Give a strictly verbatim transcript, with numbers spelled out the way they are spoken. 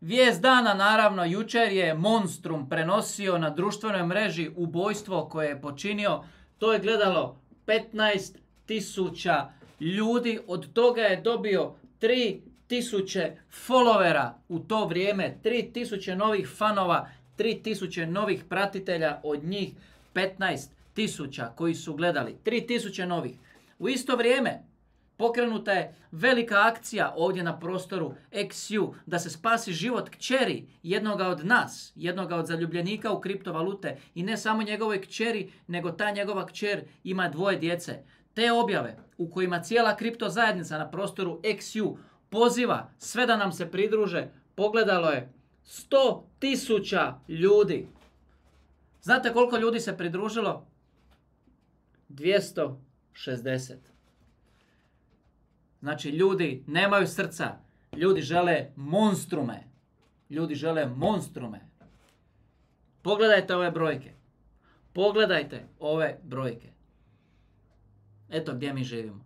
Vijest dana, naravno, jučer je Monstrum prenosio na društvenoj mreži ubojstvo koje je počinio. To je gledalo petnaest tisuća ljudi, od toga je dobio tri tisuće followera u to vrijeme, tri tisuće novih fanova, tri tisuće novih pratitelja, od njih petnaest tisuća koji su gledali, tri tisuće novih. U isto vrijeme pokrenuta je velika akcija ovdje na prostoru X U da se spasi život kćeri jednoga od nas, jednoga od zaljubljenika u kriptovalute, i ne samo njegovoj kćeri, nego ta njegova kćer ima dvoje djece. Te objave u kojima cijela kripto zajednica na prostoru X U poziva sve da nam se pridruže, pogledalo je sto tisuća ljudi. Znate koliko ljudi se pridružilo? dvjesto šezdeset. Znači, ljudi nemaju srca. Ljudi žele monstrume. Ljudi žele monstrume. Pogledajte ove brojke. Pogledajte ove brojke. Eto gdje mi živimo.